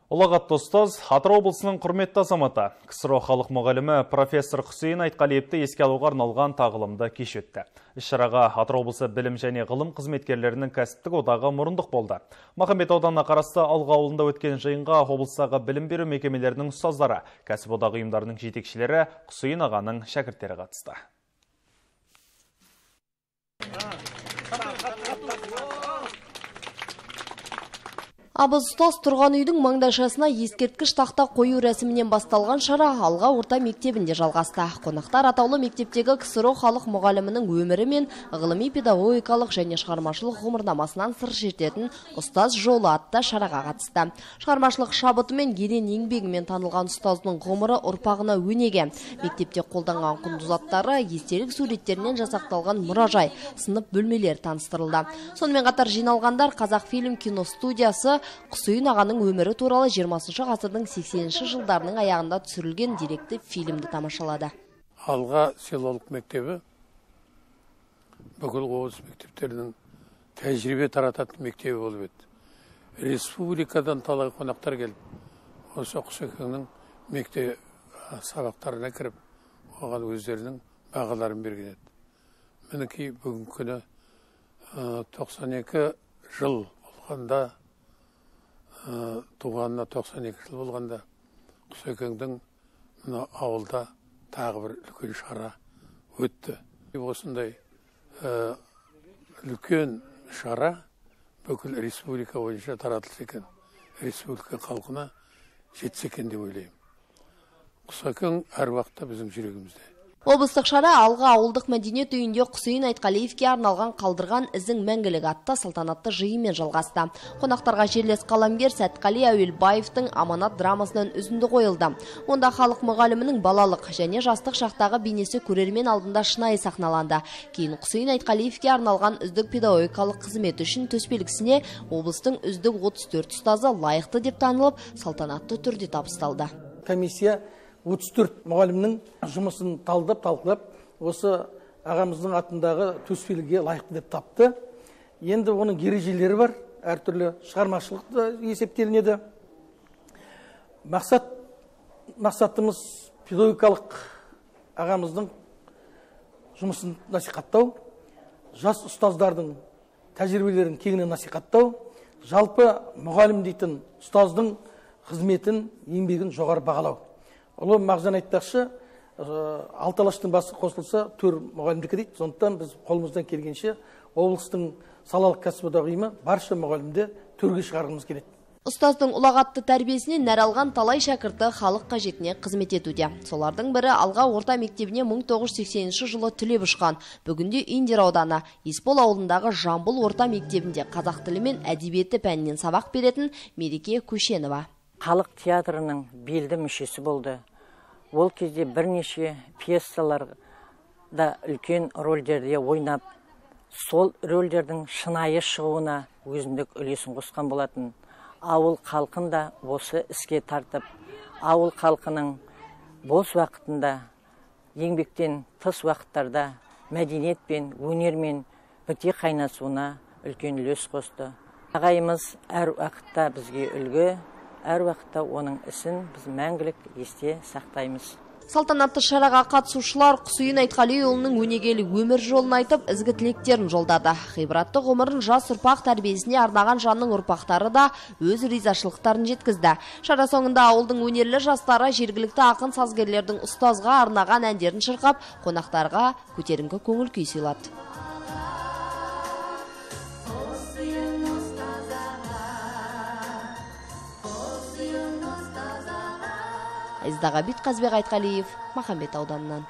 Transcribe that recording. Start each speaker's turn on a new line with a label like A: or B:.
A: Ұлағатты ұстаз Атырау облысының құрметті азаматы, КСРО халық мұғалімі профессор Құсейін Айтқалиевті еске алуға арналған тағылымды кеш өтті. Іс-шараға Атырау облысы білім және ғылым қызметкерлерінің кәсіптік одағы мұрындық болды. Махамбет ауданына қарасты Алға ауылында өткен жиынға облыстағы білім беру мекемелерінің ұстаздары, кәсіп одағы ұйымдарының жетекшілері, Құсейін ағаның шәкірттері қатысты.
B: Абыз ұстаз тұрған үйдің маңдайшасына ескерткіш тақта қою рәсімінен басталған шара Алға орта мектебінде жалғасты. Қонақтар атаулы мектептегі КСРО халық мұғалімінің өмірі мен ғылыми педагогикалық және шығармашылық ғұмырнамасынан сыр шертетін ұстаз жолы атты шараға қатысты. Шығармашылық шабыты мен ерен еңбегімен танылған ұстаздың ғұмыры ұрпағына өнеге. Мектепте қолданған құнды заттары, естелік суреттерінен жасақталған мұражай, сынып бөлмелер таныстырылды. Сонымен қатар жиналғандар Қазақфильм киностудиясы Құсейін ағаның өмірі туралы 20 ғасырдың 80-ші жылдарының аяғында түсірілген деректі фильмді тамашалады.
C: Алға селолық мектебі бүкіл облыс мектептерінің тәжірибе тарататын мектебі болып еді. Республикадан талай қонақтар келіп, осы Құсекеңнің мектеп сабақтарына кіріп, оған өздерінің бағаларын берген еді. Мінекей бүгінгі күні 92 жыл болғанда, туғанына 92 жыл болғанда Құсекеңдің ауылда тағы бір үлкен шара өтті. Осындай үлкен шара бүкіл республика бойынша таратылса екен, республика халқына жетсе екен деп ойлаймын. Құсекең әр уақытта біздің жүрегімізде.
B: Облыстық шара Алға ауылдық мәдениет үйінде Құсейін Айтқалиевке арналған қалдырған ізің мәңгілік атты салтанатты жиынмен жалғасты. Қонақтарға жерлес қаламгер Сәтқали Әуелбаевтың Аманат драмасынан үзінді қойылды. Онда халық мұғалімінің балалық және жастық шақтағы бейнесі көрермен алдында шынайы сахналанды. Кейін Құсейін Айтқалиевке арналған үздік педагогикалық қызметі үшін төсбелгісіне облыстың үздік 34 ұстазы лайықты деп танылып, салтанатты түрде табысталды.
D: Комиссия 34 мұғалімнің жұмысын талқылап, осы ағамыздың атындағы төсбелгіге лайықты деп тапты. Енді оның ережелері бар, әртүрлі шығармашылықты есептелінеді. Мақсатымыз педагогикалық ағамыздың жұмысын насихаттау, жас ұстаздардың тәжірибелерін кеңінен насихаттау, жалпы мұғалім дейтін ұстаздың қызметін, еңбегін жоғары бағалау. Ұлы мағжан айтпақшы, 6 алаштың басы қосылса, 4 мұғалімдікі дейді. Сондықтан біз қолымыздан келгенше облыстың салалық кәсіп одағы ұйымы барша мұғалімді төрге шығарғымыз келеді.
B: Ұстаздың ұлағатты тәрбиесінен нәр алған талай шәкірті халық қажетіне қызмет етуде. Солардың бірі Алға орта мектебіне 1980 жылы түлеп ұшқан. Бүгінде Индер ауданы Есбол ауылындағы Жамбыл орта мектебінде қазақ тілі мен әдебиеті пәнінен сабақ беретін Мереке Көшенова.
E: Халық театрының белді мүшесі болды. Ол кезде бірнеше пьесаларда үлкен рөлдерде ойнап, сол рөлдердің шынайы шығуына өзіндік үлесін қосқан болатын. Ауыл халқын да осы іске тартып, ауыл халқының бос уақытында, еңбектен тыс уақыттарда мәдениет пен өнермен біте қайнасуына үлкен үлес қосты. Ағайымыз әр уақытта бізге үлгі, әр уақытта оның ісін біз мәңгілік есте сақтаймыз.
B: Салтанатты шараға қатысушылар Құсейін Айтқалиұлының өнегелі өмір жолын айтып, ізгі тілектерін жолдады. Ғибратты ғұмырын жас ұрпақ тәрбиесіне арнаған жанның ұрпақтары да өз ризашылықтарын жеткізді. Шара соңында ауылдың өнерлі жастары жергілікті ақын сазгерлердің ұстазға арнаған әндерін шырқап, қонақтарға көтеріңкі көңіл күй сыйлады. Айздағабит Қазбек Айтқалиев, Махамбет ауданынан.